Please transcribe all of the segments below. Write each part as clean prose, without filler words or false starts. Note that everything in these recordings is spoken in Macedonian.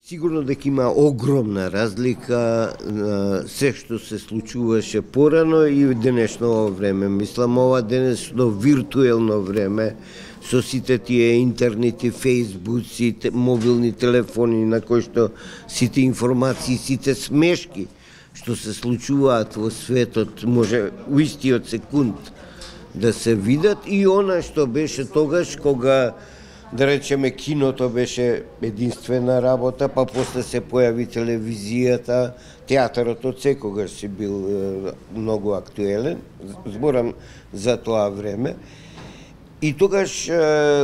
Сигурно дека има огромна разлика се што се случуваше порано и в денешно време. Мислам, ова денешно виртуелно време со сите тие интернети, фейсбуци, мобилни телефони на кои што сите информации, сите смешки што се случуваат во светот може у истиот секунд да се видат и она што беше тогаш кога да речеме киното беше единствена работа, па после се појави телевизијата, театарот од секогаш си бил многу актуелен, зборам за тоа време. И тогаш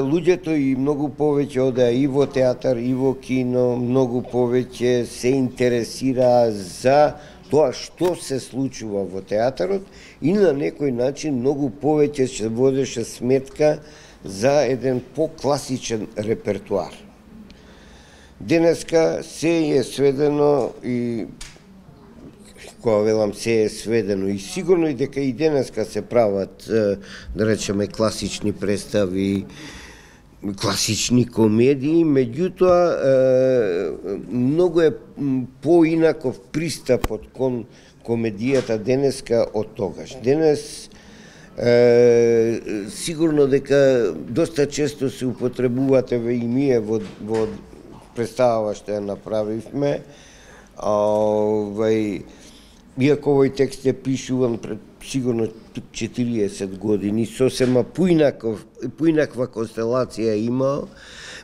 луѓето и многу повеќе одеа и во театар, и во кино, многу повеќе се интересираа за тоа што се случува во театарот и на некој начин многу повеќе се водеше сметка за еден по-класичен репертуар. Денеска се е сведено и кога велам се е сведено и сигурно и дека и денеска се прават да речеме класични представи, класични комедии, меѓутоа многу е поинаков пристапот кон комедијата денеска од тогаш. Денес сигурно дека доста често се употребувате и ние во представава што ја направивме. Иако овој текст е пишуван пред сигурно 40 години, сосема поинаква констелација има,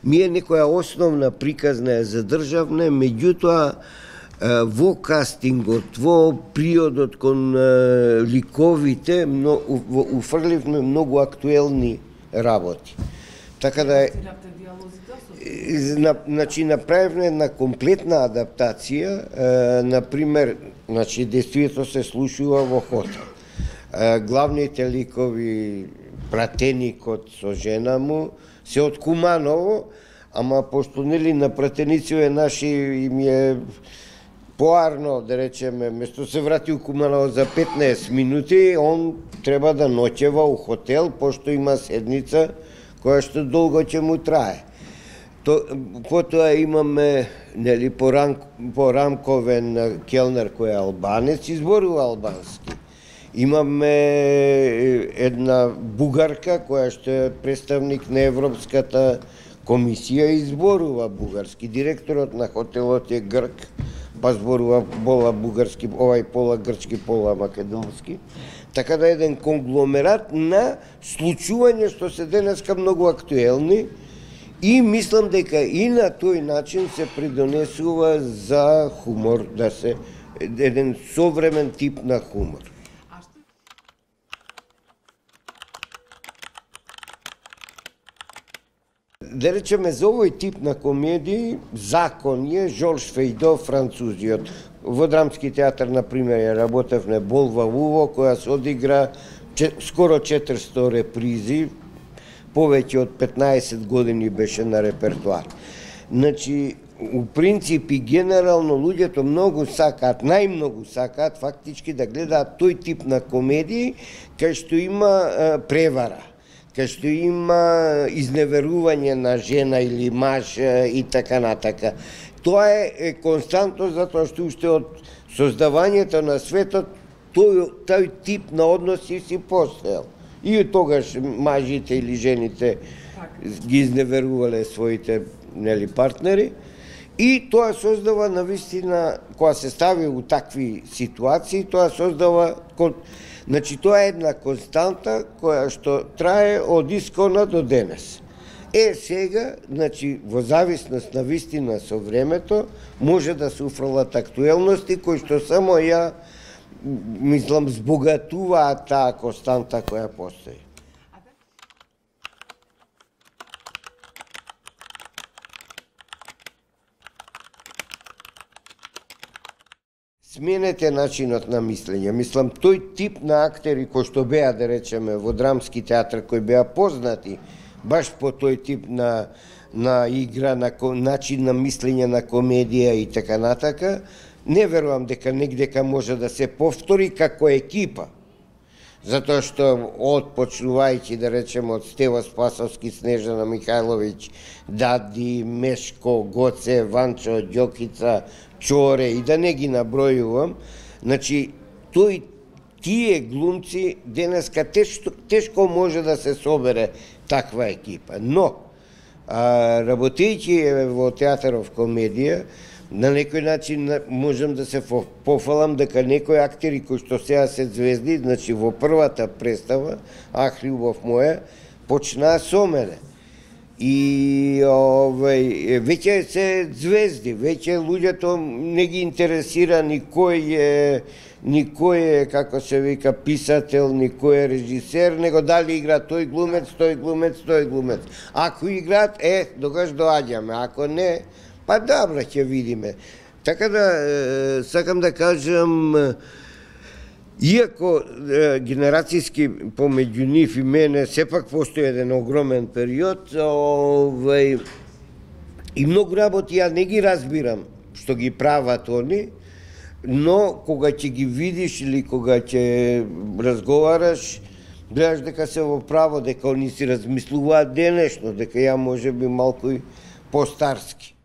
ми е некоја основна приказна е задржавна, меѓутоа во кастингот, во приодот кон ликовите, уфрливме многу актуелни работи. Така да значи направивме една комплетна адаптација, например, значи действието се слушува во хотел. Главните ликови, пратеникот со жена му, се од Куманово, ама пошто нели на пратениците наши им е поарно, да речеме, место се врати у Куманово за 15 минути, он треба да ноќева у хотел, пошто има седница која што долго ќе му трае. Потоа имаме нели порамковен келнер кој е албанец и зборува албански. Имаме една бугарка која што е представник на Европската комисија и зборува бугарски. Директорот на хотелот е грк, па зборува пола бугарски, овај пола грчки, пола македонски. Така да еден конгломерат на случувања што се денеска многу актуелни и мислам дека и на тој начин се придонесува за хумор, да се еден современ тип на хумор. Да речеме, за овој тип на комедии, закон е Жорж Фейдо, французиот. Во Драмски театар, например, ја работевме Болва Уво, која се одигра скоро 400 репризи, повеќе од 15 години беше на репертуар. Значи, у принцип и генерално луѓето многу сакаат, најмногу сакаат фактички да гледаат тој тип на комедии кај што има превара, кај што има изневерување на жена или маж и така натака. Тоа е константно затоа што уште од создавањето на светот тој тип на односи си постоел. И тогаш мажите или жените ги изневерувале своите партнери и тоа создава навистина, кога се стави у такви ситуации, тоа создава, значи тоа е една константа која што трае од искона до денес. Сега, значи, во зависност на вистина со времето, може да се уфрлат актуелности кои што само ја мислам, збогатуваат таа константа која постои. Сменете начинот на мислење. Мислам, тој тип на актери кои што беа, да речеме, во Драмски театар, кои беа познати, баш по тој тип на игра, на начин на мислење на комедија и така натака, не верувам дека негдека може да се повтори како екипа. затоа што почнувајќи да речеме од Стева Спасовски, Снежана Михајловиќ, Дади, Мешко, Гоце, Ванчо, Ѓокица, Чоре и да не ги набројувам, значи тие глумци денеска тешко може да се собере таква екипа, но работејќи во театаров комедија, на некој начин можам да се пофалам дека некои актери кои што сега се звезди, значи во првата представа, Ах, љубов моја, почнаа со мене. И веќе се звезди, веќе луѓето не ги интересира никој е, како се вика, писател, никој е режисер, него дали игра тој глумец, тој глумец, тој глумец. Ако играат, тогаш доаѓаме, ако не, па добро, ќе видиме. Така да, сакам да кажам, иако генерацијски помеѓу нив и мене, сепак постои еден огромен период, и многу работи ја не ги разбирам што ги прават они, но кога ќе ги видиш или кога ќе разговараш, гледаш дека се во право, дека они си размислуваат денешно, дека ја може би малку и постарски.